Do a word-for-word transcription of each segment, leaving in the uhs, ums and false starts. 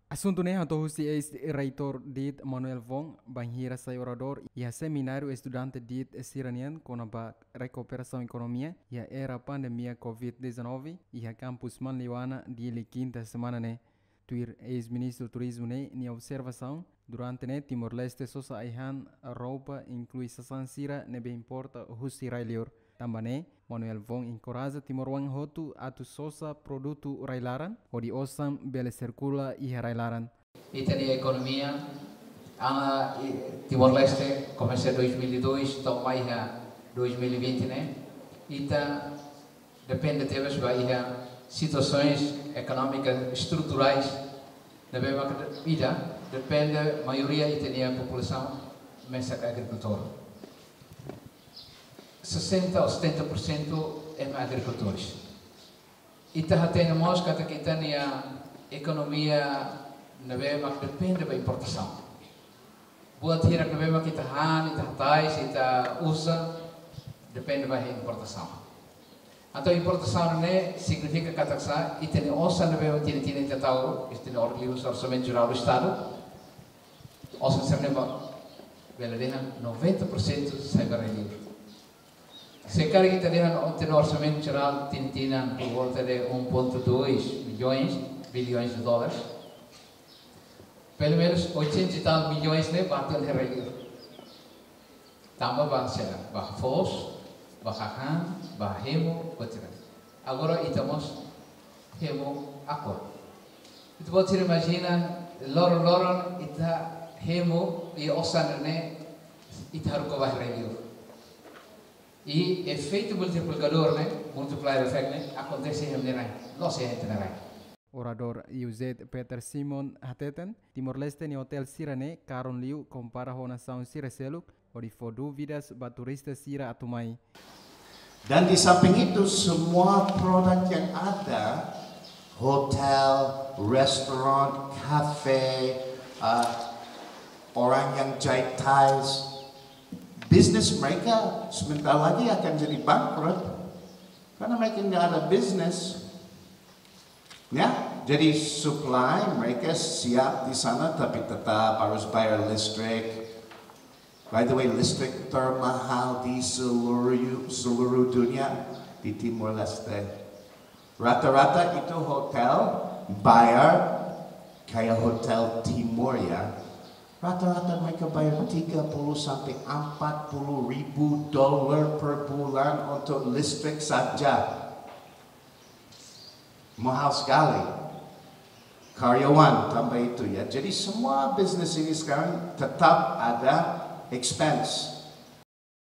Asuntu ne'e hato'o husi eis-reitór DIT Manuel Wong, bainhira sai oradór iha semináriu estudante DIT sira-nian kona-ba rekuperasaun ekonomia iha era pandemia covid dezanove iha kampus Manleuana, Dili, kinta semana ne'e. Tuir eis-ministru turizmu ne'e nia observasaun, durante ne'e Timor-Leste sosa ai-han, roupa, inklui sasán sira ne'ebé importa husi rai-liur. Tanba ne'e, Manuel Wong enkoraja timoroan hotu atu sosa produtu rai-laran, hodi osan bele sirkula iha rai-laran. Ita-nia ekonomia, ah, i-, Timor-Leste, komesa dois mil e dois, to'o mai iha dois mil e vinte ne'e, ita depende tebes ba iha situasoens ekonómikas estruturais, ne'ebé mak ida, depende, maioria ita-nia populasaun mesak agrikultór. Sesenta ou setenta por cento ema agrikultores. Ita hatene mós katak ita-nia ekonomia ne'ebé mak depende ba importasaun. Buat hirak ne'ebé mak ita han, ita hatais, ita uza, depende ba importasaun. Entaun importasaun ne'e signifika katak sá, ita-nia osan ne'ebé mak tinan-tinan ita tau, ita-nia or-, livre orsamentu jerál do Estadu, osan sira-ne'e ba, bele dehan noventa por cento sai ba rai-liur. Se karik ita dehan ita-nia orsamentu jerál tinan-tinan por volta de um ponto dois milhões, bilhões de dólares, pelo menos oitenta e tal milhões ne'e ba tiha ona iha rai-liur. Tanba ba sela, ba foos, ba hahán, ba hemu, etcetera. Agora ita mós hemu Aqua. Ita-boot sira imajina, loron-loron ita hemu i osan ne'e ita haruka ba rai-liur. I efeitu multiplikadór ne'e, multiplier effect ne'e, akontese iha ema nia rai, la'ós iha ita-nia rai. Oradór UZ Peter Simon hateten, Timor-Leste nia otél sira-ne'e karun liu kompara ho nasaun sira seluk, hodi fó dúvidas ba turista sira atu mai. Dan di samping itu, semua produk yang ada, hotel, restoran, kafe, ah, orang yang jahit tiles, bisnis mereka sebentar lagi akan jadi bangkrut karena mereka nggak ada bisnis. Ya, jadi supply mereka siap di sana, tapi tetap harus bayar listrik. By the way, listrik termahal di seluruh, seluruh dunia di Timor-Leste. Rata-rata itu hotel bayar, kayak hotel Timor ya, rata-rata mereka bayar tiga puluh sampai empat puluh ribu dolar per bulan untuk listrik saja. Mahal sekali. Karyawan tambah itu ya. Jadi semua bisnis ini sekarang tetap ada expense.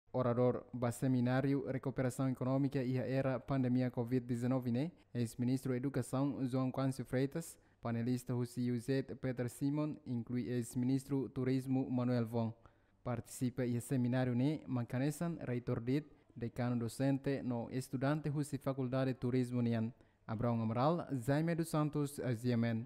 Oradór ba semináriu rekuperasaun ekonómika iha era pandemia covid dezanove ne'e, eis-ministru Edukasaun João Quâncio Freitas, panelista husi UZ Peter Simon, inklui eis-ministru Turizmu Manuel Wong. Partisipa iha semináriu ne'e mak hanesan reitór DIT, dekanu dosente no estudante husi Fakuldade Turizmu nian. Abraão Amaral, Jaime dos Santos, GMN.